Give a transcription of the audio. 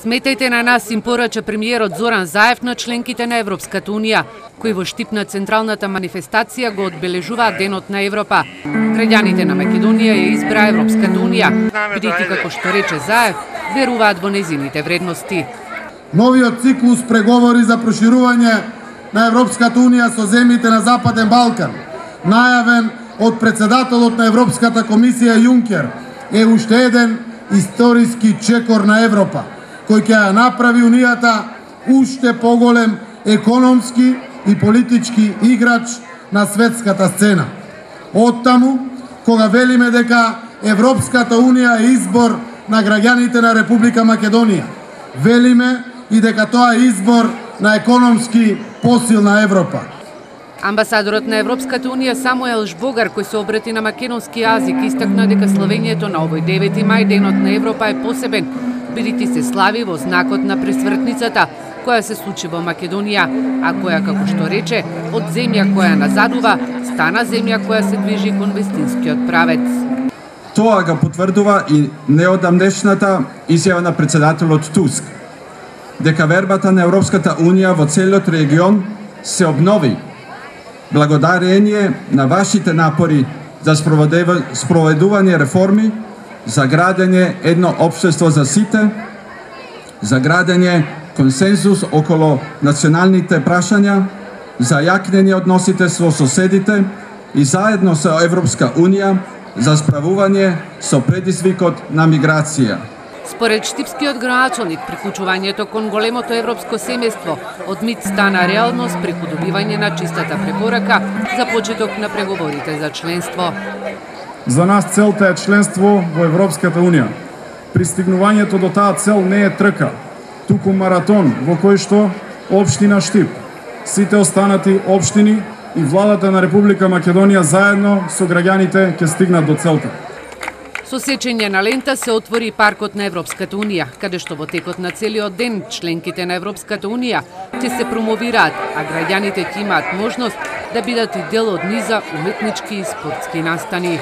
Сметајте на нас, им порача премиерот Зоран Заев на членките на Европската унија, кои во штип на централната манифестација го одбележуваат Денот на Европа. Граѓаните на Македонија ја избра Европската унија, бидејќи како што рече Заев, веруваат во нејзините вредности. Новиот циклус преговори за проширување на Европската унија со земјите на Западен Балкан, најавен од председателот на Европската комисија Јункер, е уште еден историски чекор на Европа, кој ќе ја направи унијата уште поголем економски и политички играч на светската сцена. Оттаму, кога велиме дека Европската унија е избор на граѓаните на Република Македонија, велиме и дека тоа е избор на економски посилна Европа. Амбасадорот на Европската унија Самуел Жбогар, кој се обрати на македонски јазик, истакна дека славењето на овој 9 мај Денот на Европа е посебен, бидејќи се слави во знакот на пресвртницата, која се случи во Македонија, а која, како што рече, од земја која назадува, стана земја која се движи кон вистинскиот правец. Тоа го потврдува и неодамнешната изјава на председателот Туск, дека вербата на Европската унија во целиот регион се обнови, благодарение на вашите напори за спроведување реформи, за градење едно општество за сите, за градење консензус околу националните прашања, за јакнење односите со соседите и заедно со Европска унија за справување со предизвикот на миграција. Според штипскиот градоначалник, приклучувањето кон големото европско семејство од мит стана реалност преку добивање на чистата препорака за почеток на преговорите за членство. За нас целта е членство во Европската унија. Пристигнувањето до таа цел не е трка, туку маратон во кој што општина Штип, сите останати општини и владата на Република Македонија заедно со граѓаните ќе стигнат до целта. Со сечење на лента се отвори паркот на Европската унија, каде што во текот на целиот ден членките на Европската унија ќе се промовираат, а граѓаните ќе имаат можност да бидат и дел од низа уметнички и спортски настани.